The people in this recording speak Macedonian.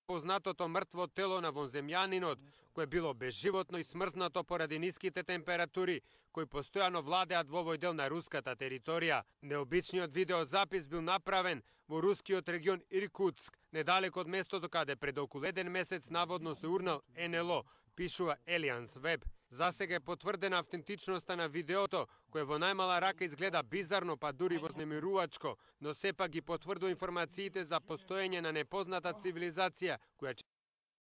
познатото мртво тело на вонземјанинот, кое било безживотно и смрзнато поради ниските температури, кои постојано владеат во овој дел на руската територија. Необичниот видеозапис бил направен во рускиот регион Иркутск, недалеко од местото каде пред околу 1 месец наводно се урнал НЛО, пишува Елианс Веб. Засега е потврдена автентичноста на видеото, кое во најмала рака изгледа бизарно, па дури вознемирувачко, но сепак ги потврдува информациите за постоење на непозната цивилизација, која